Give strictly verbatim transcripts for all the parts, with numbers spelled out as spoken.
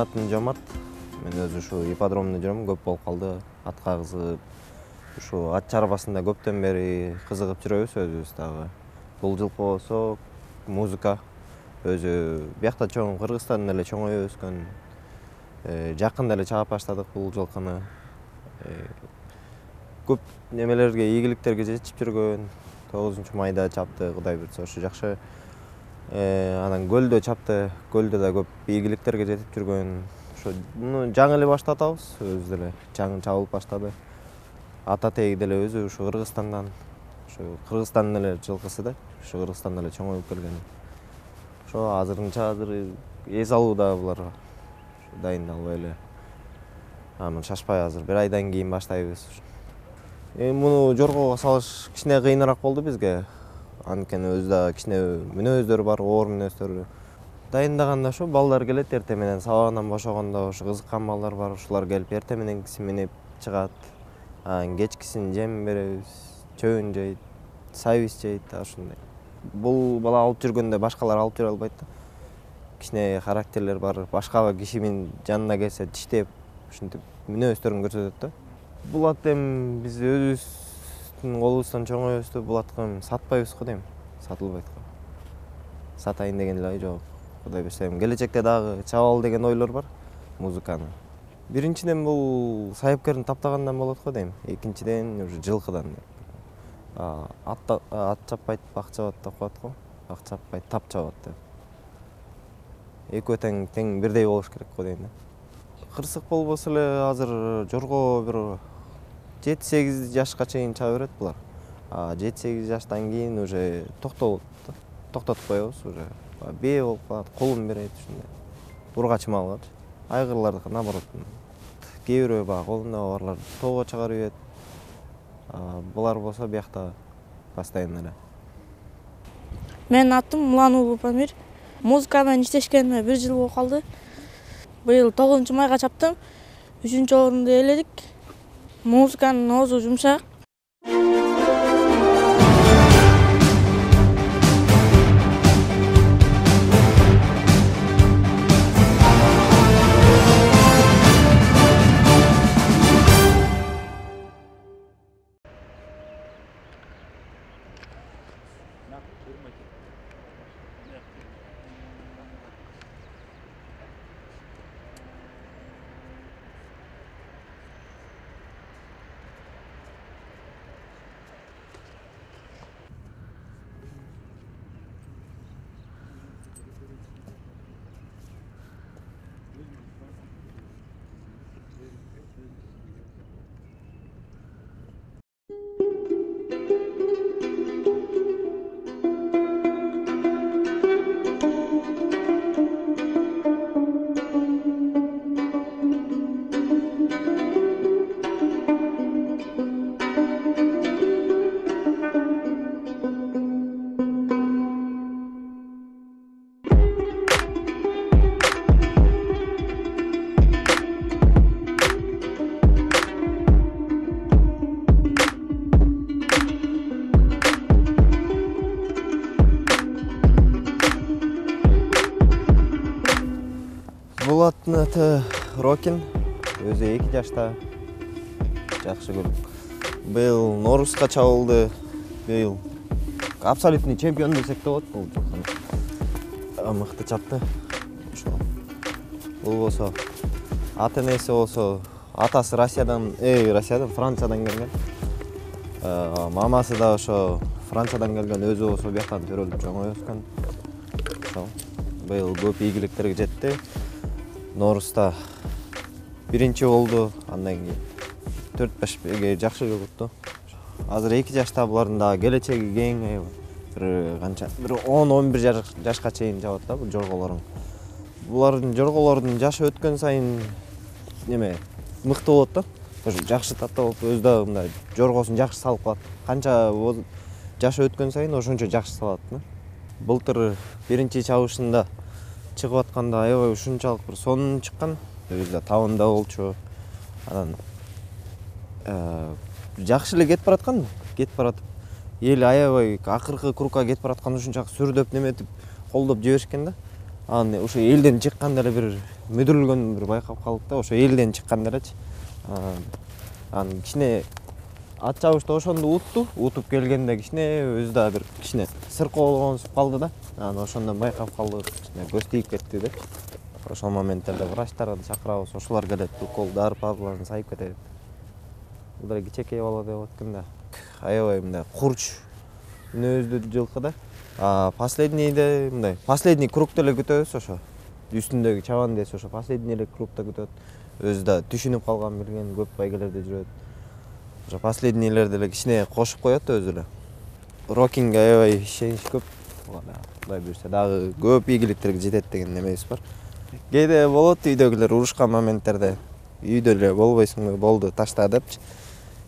атым Жомарт. Мен өзү ушу ипподромдо жүрөм, көп болуп калды. Атка кызыгып, ушу ат чарбасында көптөн бери кызыгып жүрөбүз өзүбүз дагы. Бул жылкы болсо музыка. Өзү биякта чоң Кыргызстанда эле чоңоюп өскөн. Жакында эле чаап баштадык бул жылкыны. Көп немелерге, ийгиликтерге жетип жүргөн. тогузунчу майда чапты, Кудай буйрса ушу жакшы. Анан көлдө чапты, көлдө да көп ийгиликтерге жетип жүргөн. Ошо муну жаңы эле баштатабыз, өзүбүз деле жаңы чабылып баштады. Ата теги деле өзү ушу Кыргызстандан, ушу Кыргызстандын эле жылкысы да, ушу Кыргызстанда эле чоңоюп келген. Ошо азырынча азыр эс алууда буларга. Дайындалбай эле. Аны шашпай азыр бир айдан кийин баштайбыз. Эми муну жоргого салыш кичине кыйыныраак болду бизге. Анткени өзү да кичине мүнөздөр бар, оор мүнөздөр. Дайындаганда ошо балдар келет, эртең менен сабагынан бошогондо ошо кызыккан балдар бар, ушулар келип эртең мененкисин минип чыгат. Анан кечкисин жем беребиз, чөбүн жейт, сабиз жейт, ушундай. Бул бала алып жүргөндө башкалар алып жүрө албайт да. Кичине характерлер бар, башка кишинин жанына келсе тиштеп, ушинтип мүнөздөрүн көрсөтөт да. Бул ат эми биз өзүбүздүн колубуздан чоңоюп өстү, бул атты сатпайбыз го дейм, сатылбайт го. Сатайын деген эле ой жок. Кудай буйрса эми келечекте дагы чабалы деген ойлор бар музыканы. Биринчиден бул сайыпкерин таптагандан болот го дейм, экинчиден уже жылкыдан. Ат ат чаппайт, бак чабат деп коет го. Бак чаппайт, тап чабат деп. Экөө тең тең бирдей болуш керек го дейм да. Кырсык болбосо эле азыр жорго бир жети сегиз жашка чейин чаба берет булар. А жети сегиз жаштан кийин уже токтолот да. Токтотуп коебуз уже. Бээ болуп калат, колун берет ушундай. Ургачы малгачы. Айгырлардыкы наоборот. Кээ бирөө баягы колунда барлар тоого чыгарып ийет. Булар болсо биякта постоянно эле. Менин атым Мулан уулу Памир. Музыка менен иштешкениме бир жыл болуп калды. Быйыл тогузунчу майга чаптым. үчүнчү орунду ээледик. Музыканын оозу жумшак. Бул аттын аты Рокин, өзү эки жашта. Жакшы көрүп. Быйыл Норузга чабылды. Быйыл абсолютный чемпион десек да болот бул жылкыны. Мыкты чапты. Ошо. Бул болсо ата энеси болсо атасы Россиядан, э, Россиядан, Франциядан келген. Мамасы да ошо Франциядан келген, өзү болсо бияктан төрөлүп чоңоюп өскөн. Ошо. Быйыл көп ийгиликтерге жетти. Норузда биринчи болду, андан кийин төрт беш жакшы жоготту. Азыр эки жашта, булардын дагы келечеги кең, аябай. Бир канча, бир он он бир жашка чейин жабат да бул жорголорун. Булардын жорголордун жашы өткөн сайын неме мыкты болот да. Ошо жакшы татта болуп, өзү дагы мындай жоргосун жакшы салып калат. Канча жашы өткөн сайын ошончо жакшы салат да. Былтыр биринчи чабышында чыгып атканда аябай ушунчалык бир сонун чыккан. Өзү да табында болчу. Анан жакшы эле кетип бараткан, кетип баратып, эл аябай акыркы кругка кетип бараткан ушунчалык сүрдөп неметип, колдоп жиберишкен да. Аны ошо элден чыкканда эле бир мүдүрүлгөн бир байкап калдык да, ошо элден чыкканда элечи. Анан кичине ат чабышты ошондо утту, утуп келгенде кичине өзү да бир кичине сыркоолгонсуп калды да. Анан ошондон байкап калдык, кичине көз тийип кетти деп. Ошол моменттерде врачтарды чакырабыз, ошолор келет, укол дары пазларын сайып кетет. Бул эле кичинекей бала деп аткан да. Аябай мындай курч мүнөздүү жылкы да. А последнийде мындай последний кругта эле күтөбүз ошо. Үстүндөгү чабан десе ошо последний эле кругта күтөт. Өзү да түшүнүп калган билген, көп байгелерде жүрөт. Ошо последнийлерди эле кичине кошуп коет өзү эле. Рокинге аябай ишенич көп. Кудай буйрса дагы көп ийгиликтерге жетет деген немебиз бар. Кээде болот үйдөгүлөр урушкан моменттерде. Үйдө эле болбойсуңбу, болду ташта депчи.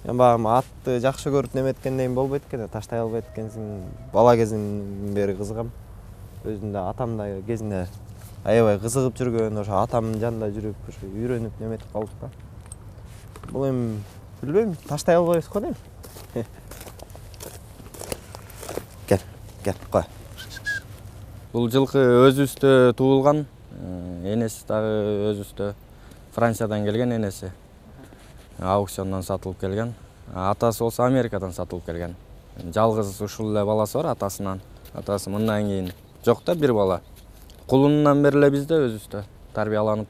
Мен багы атты жакшы көрүп неметкенден кийин болбойт экен, таштай албайт экенсиң. Бала кезимден бери кызыгам. Өзүм да атам да кезинде аябай кызыгып жүргөн, ошо атамдын жанында жүрүп, ошо үйрөнүп неметип калдык да. Бул эми билбейм, таштай албайбыз го дейм. Кел, кел, кой. Бул жылкы өзүбүздө туулган, энеси дагы өзүбүздө Франциядан келген энеси. Аукциондон сатылып келген. Атасы болсо Америкадан сатылып келген. Жалгыз ушул эле баласы бар атасынан. Атасы мындан кийин жок да бир бала. Кулунунан бери эле бизде өзүбүздө тарбияланып,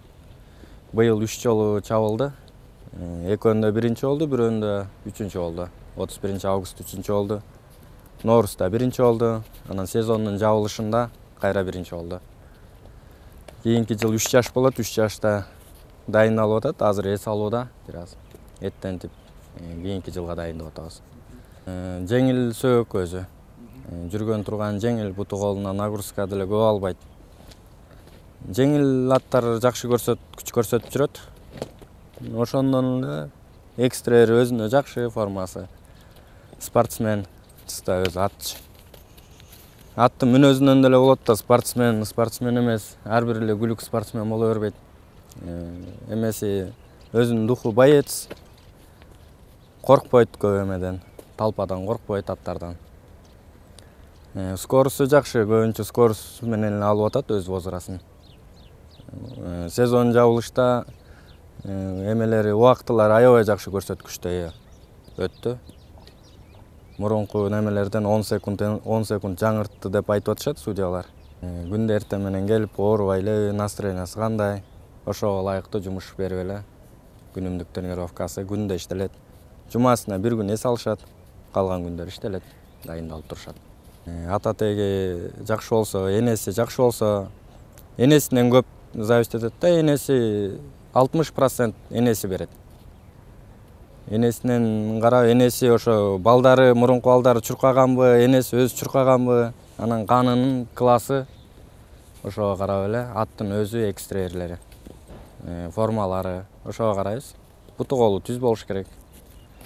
быйыл үч жолу чабылды. Экөөндө биринчи болду, бирөөндө үчүнчү болду. отуз биринчи август үчүнчү болду. Ноорузда биринчи болду. Анан сезондун жабылышында кайра биринчи болду. Кийинки жыл үч жаш болот, үч жашта дайындалып атат. Азыр эс алууда бир аз. Эттентип кийинки жылга дайындап атабыз. Жеңил сөөк өзү. Жүргөн турган жеңил, буту колуна нагрузка деле көп албайт. Жеңил аттар жакшы көрсөт, күч көрсөтүп жүрөт. Ошондон эле экстраери өзүнө жакшы формасы. Спортсмен, чыста өзү атчы. Аттын мүнөзүнөн деле болот да, спортсмен, спортсмен эмес, ар бир эле күлүк спортсмен боло бербейт. Эмеси өзүнүн духу боец. Коркпойт көп эмеден, талпадан коркпойт аттардан. Скорусу жакшы, көбүнчө скорус менен алып атат өз возрасын. Сезон жабылышта эмелери, убактылары аябай жакшы көрсөткүчтө өттү. Мурунку немелерден он секунд он секунд жаңыртты деп айтып атышат судьялар. Күндө эртең менен келип, оорубай элеби, настроениясы кандай, ошого ылайыктуу жумуш берип эле. Күнүмдүк тренировкасы күндө иштелет. Жумасына бир күн эс алышат, калган күндөр иштелет, дайындалып турушат. Ата теги жакшы болсо, энеси жакшы болсо, энесинен көп зависить этет да, энеси алтымыш процент энеси берет. Энесинен карап, энеси ошо балдары, мурунку балдары чуркаганбы, энеси өзү чуркаганбы, анан канынын классы ошого карап эле аттын өзү экстраерлери, формалары ошого карайбыз. Буту колу түз болуш керек.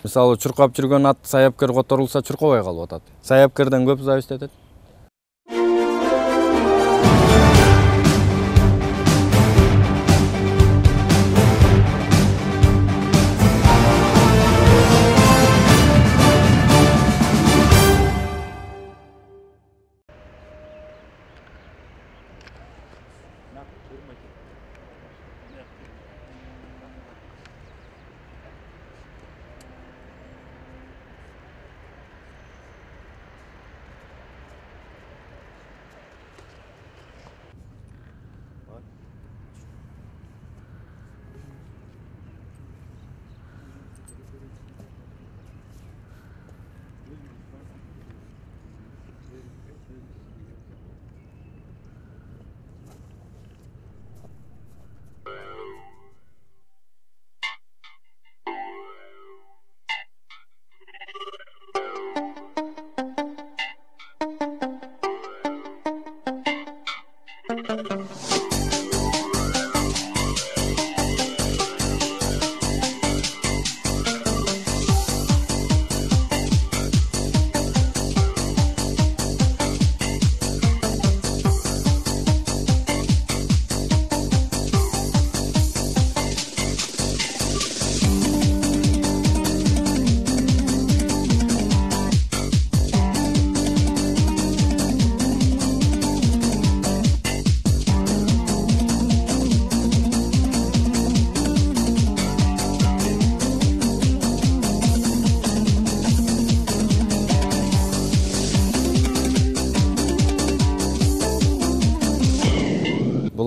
Мисалы, чуркап жүргөн ат саяпкер которулса чуркабай калып атат. Саяпкерден көп зависить этет.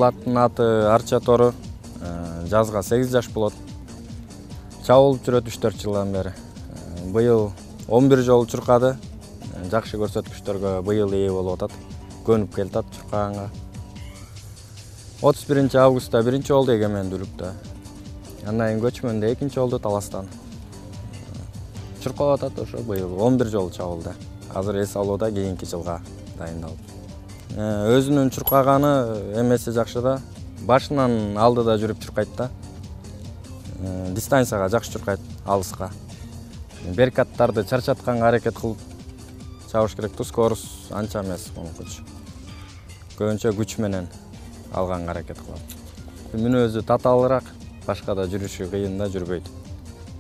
Бул аттын аты Арча Тору. Жазга сегиз жаш болот. Чабылып жүрөт үч төрт жылдан бери. Быйыл он бир жолу чуркады. Жакшы көрсөткүчтөргө быйыл ээ болуп атат. Көнүп келатат чуркаганга. отуз биринчи августта биринчи болду эгемендүүлүктө. Андан кийин көчмөндө экинчи болду Таластан. Чуркап атат ошо быйыл он бир жолу чабылды. Азыр эс алууда кийинки жылга дайындалып. Өзүнүн чуркаганы эмеси жакшы да. Башынан алдыда жүрүп чуркайт да. Дистанцияга жакшы чуркайт, алыска. Беркаттарды чарчатканга аракет кылып чабыш керек да, скорость анча эмес монукучу. Көбүнчө күч менен алганга аракет кылат. Мүнөзү татаалыраак, башкада жүрүшү кыйын да, жүрбөйт.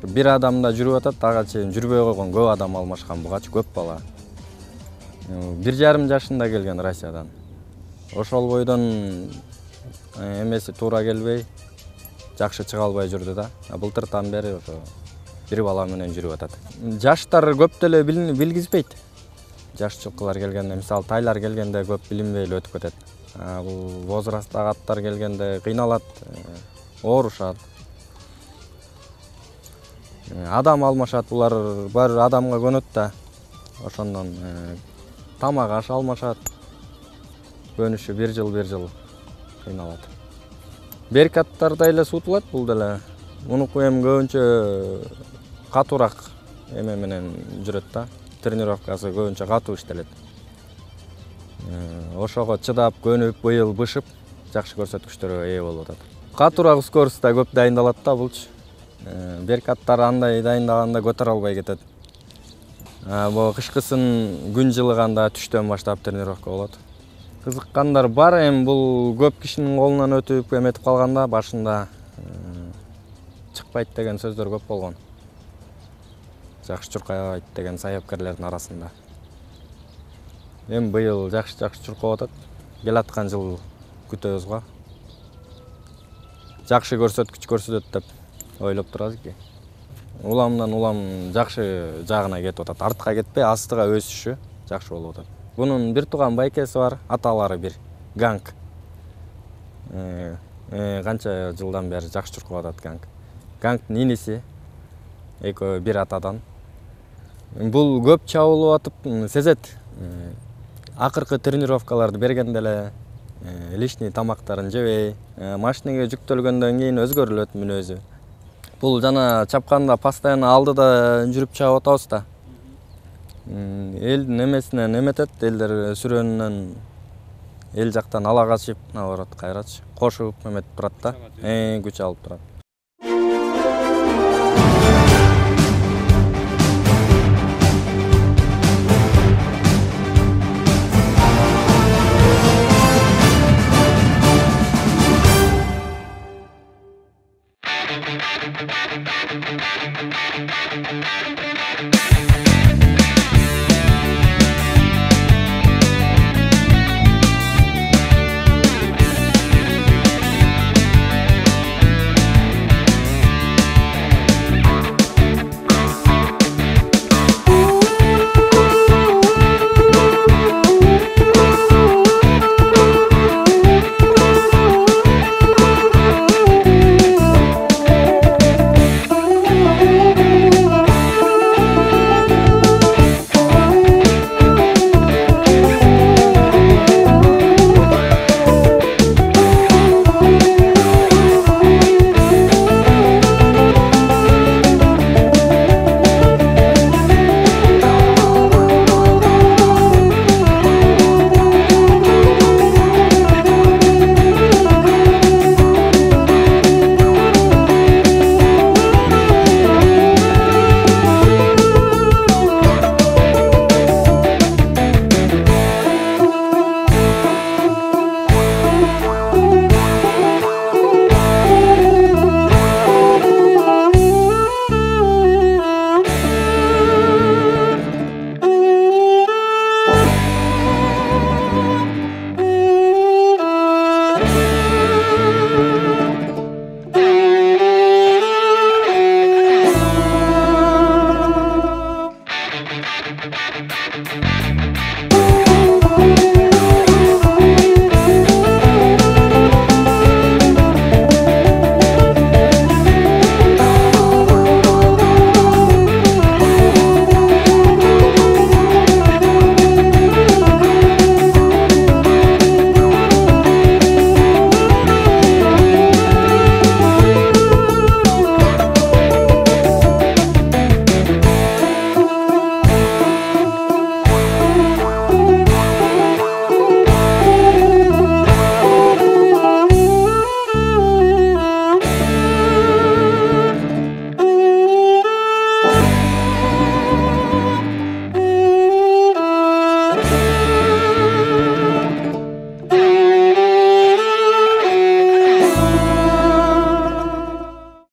Бир адамда жүрүп атат, ага чейин жүрбөй койгон көп адам алмашкан, бугачы көп бала. Бир жарым жашында келген Россиядан. Ошол бойдон эмеси туура келбей, жакшы чыга албай жүрдү да. Былтыртан бери ошо бир бала менен жүрүп атат. Жаштар көп деле билгизбейт. Жаш жылкылар келгенде, мисалы тайлар келгенде көп билинбей эле өтүп кетет. Бул возрасттагы аттар келгенде кыйналат, оорушат. Адам алмашат, булар бар адамга көнөт да. Ошондон тамак аш алмашат. Көнүшү бир жыл бир жыл кыйналат. Беркаттарда эле сутулат бул деле. Мунуку эми көбүнчө катуураак эме менен жүрөт да. Тренировкасы көбүнчө катуу иштелет. Ошого чыдап, көнүп, быйыл бышып, жакшы көрсөткүчтөргө ээ болуп атат. Катуураак скоростта көп дайындалат да булчу. Беркаттар андай дайындаганда көтөрө албай кетет. Бул кышкысын күн жылыганда түштөн баштап тренировка болот. Кызыккандар бар, эми бул көп кишинин колунан өтүп эметип калганда башында чыкпайт деген сөздөр көп болгон. Жакшы чуркайт деген саяпкерлердин арасында. Эми быйыл жакшы-жакшы чуркап атат. Келаткан жыл күтөбүз го. Жакшы көрсөткүч көрсөтөт деп ойлоп турабыз. Уламдан улам жакшы жагына кетип атат. Артка кетпей, астыга өсүшү жакшы болуп атат. Бунун бир тууган байкеси бар, аталары бир, Ганг. Канча жылдан бери жакшы чуркап атат Ганг. Гангдын иниси, экөө бир атадан. Бул көп чабылып атып, сезет. Акыркы тренировкаларды бергенде эле лишний тамактарын жебей, машинеге жүктөлгөндөн кийин өзгөрүлөт мүнөзү. Бул жана чапканда постоянно алдыда жүрүп чабып атабыз да. Элдин эмесинен эметет, элдер сүрөөнүнөн эл жактан ала качып, наоборот кайрачы, кошуп эметип турат да. Күч алып турат.